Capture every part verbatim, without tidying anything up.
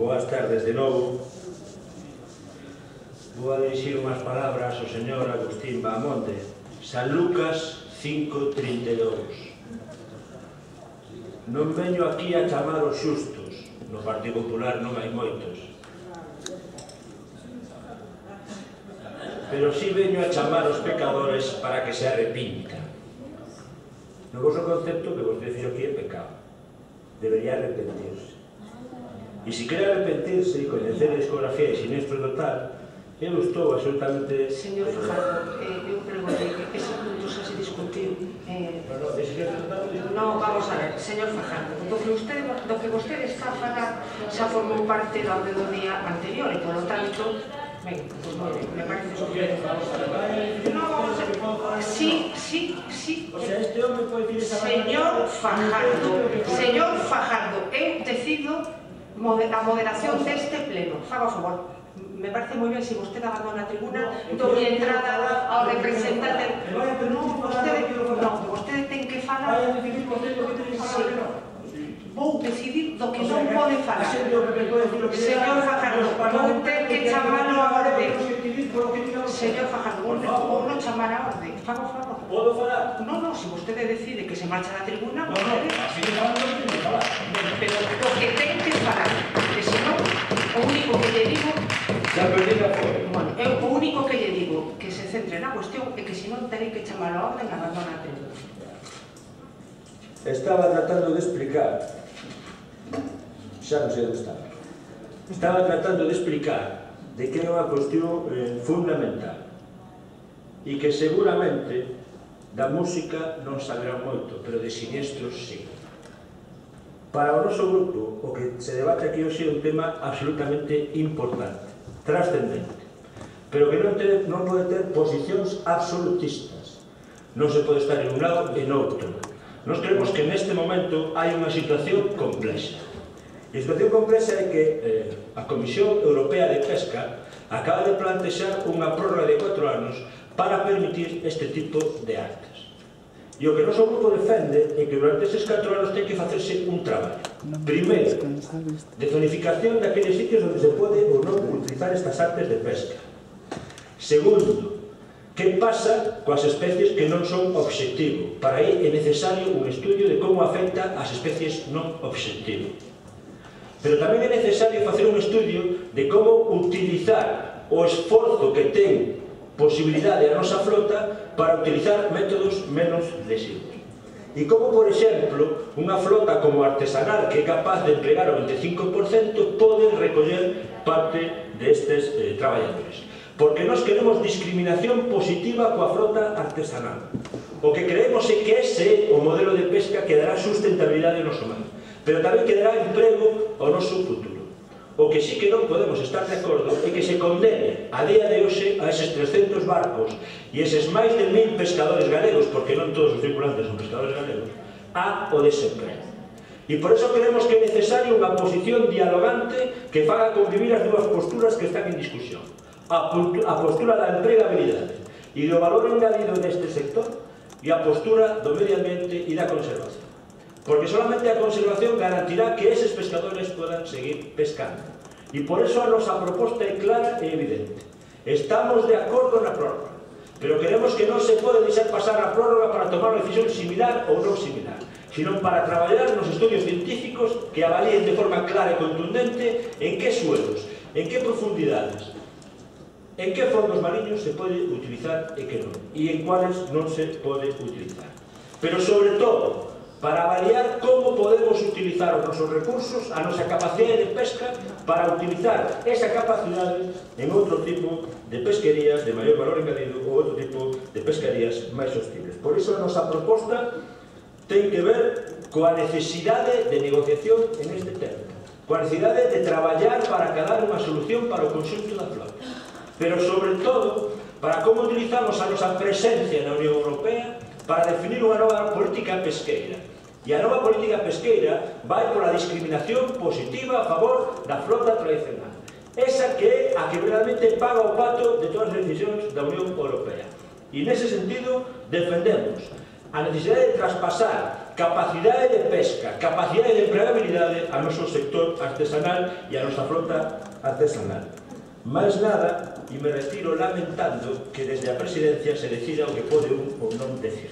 Boas tardes de novo. Vou a dirixir unhas palabras ao señor Agustín Bahamonde. San Lucas cinco trinta e dous. Non veño aquí a chamar os xustos, no Partido Popular non hai moitos, pero si veño a chamar os pecadores para que se arrepintan. No vosso concepto que vos dicir aquí é pecado, debería arrepentirse. E se quere arrepentirse e coñecer a discografía de Sinestro Total, eu estou absolutamente... Señor Fajardo, eu preguntei que ese punto xa se discutiu. Non, vamos a ver, señor Fajardo, do que vostede está a falar xa formou parte da orde do día anterior e, polo tanto, ben, pois moi ben, me parece que... Non, sí, sí, sí. Señor Fajardo, señor Fajardo, eu decido a moderación deste pleno. Faga o favor. Me parece moi ben se vostede abandona a tribuna, doble entrada ao representante. Non, vostede, non, vostede ten que falar. Vou decidir do que non pode falar. Señor Fajardo, vou ter que chamalo a orde. Señor Fajardo, vou non chamar a orde. Faga o favor. Podo falar? Non, non, se vostede decide que se marcha da tribuna, non, non, así que falar non ten que falar. Pero o que ten que falar, que senón, o único que lle digo... Xa perdida foi. Bueno, eu o único que lle digo que se centre na cuestión é que senón terei que chamar a orden e abandonar a tribuna. Estaba tratando de explicar, xa non sei onde estaba, estaba tratando de explicar de que é unha cuestión eh, fundamental e que seguramente da música non saberá moito, pero de Sinestros sí. Para o noso grupo, o que se debate aquí hoxe é un tema absolutamente importante, trascendente, pero que non, te, non pode ter posicións absolutistas. Non se pode estar en un lado e no outro. Nos creemos que neste momento hai unha situación complexa. E a situación complexa é que eh, a Comisión Europea de Pesca acaba de plantexar unha prórroga de cuatro anos para permitir este tipo de actas. E o que o noso grupo defende é que durante estes catro anos ten que facerse un traballo. Primeiro, de zonificación daqueles sitios onde se pode ou non utilizar estas artes de pesca. Segundo, que pasa coas especies que non son obxectivo. Para aí é necesario un estudio de como afecta as especies non obxectivo. Pero tamén é necesario facer un estudio de como utilizar o esforzo que ten posibilidade a nosa flota para utilizar métodos menos lesivos. E como, por exemplo, unha flota como artesanal que é capaz de empregar o veinticinco por cento pode recoller parte destes eh, traballadores. Porque nós queremos discriminación positiva coa flota artesanal. O que creemos é que ese é o modelo de pesca que dará sustentabilidade ao noso mar, pero tamén que dará emprego ao noso futuro. O que sí que non podemos estar de acordo é que se condene a día de hoxe a eses trescentos barcos e eses máis de mil pescadores galegos, porque non todos os tripulantes son pescadores galegos, a o desemprego. E por eso creemos que é necesario unha posición dialogante que faga convivir as dúas posturas que están en discusión. A postura da empregabilidade e do valor engadido neste sector e a postura do medio ambiente e da conservación. Porque solamente a conservación garantirá que eses pescadores podan seguir pescando. E por eso a nosa proposta é clara e evidente. Estamos de acordo na prórroga, pero queremos que non se pode deixar pasar a prórroga para tomar unha decisión similar ou non similar, sino para traballar nos estudios científicos que avalíen de forma clara e contundente en que suelos, en que profundidades, en que fondos mariños se pode utilizar e que non, e en cuáles non se pode utilizar. Pero sobre todo, para avaliar como podemos utilizar os nosos recursos, a nosa capacidade de pesca, para utilizar esa capacidade en outro tipo de pesquerías de maior valor engadido ou outro tipo de pesquerías máis sostibles. Por iso a nosa proposta ten que ver coa necesidade de negociación en este tema, coa necesidade de traballar para acadar unha solución para o conxunto da flota, pero sobre todo para como utilizamos a nosa presencia na Unión Europea para definir unha nova política pesqueira. E a nova política pesqueira vai pola discriminación positiva a favor da flota tradicional. Esa que é a que verdadeiramente paga o pato de todas as decisións da Unión Europea. E nese sentido defendemos a necesidade de traspasar capacidade de pesca, capacidade de empregabilidade ao noso sector artesanal e a nosa flota artesanal. Mais nada, e me retiro lamentando que desde a presidencia se decida o que pode un ou non decir.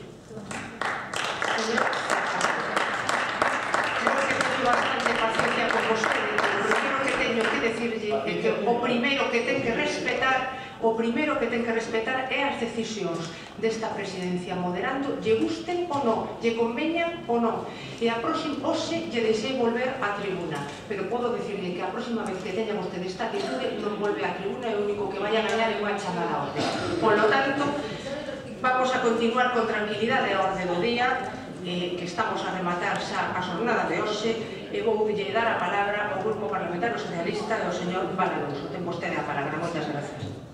Creo que teño bastante paciencia con vostede, pero o primeiro que teño que decirlle é que o primeiro que ten que respetar o primeiro que ten que respetar é as decisións desta presidencia, moderando, lle gusten ou non, lle conveñan ou non. E a próxima, hoxe, lle deixei volver á tribuna, pero podo dicirle que a próxima vez que teña vostede esta atitude non volve á tribuna e o único que vai a gañar é unha chamada a orde. Por lo tanto, vamos a continuar con tranquilidade a orde do día, eh, que estamos a rematar xa a xornada de hoxe, e vou lle dar a palabra ao Grupo Parlamentario Socialista e ao señor Val Alonso. Ten vostede a palabra. Moitas gracias.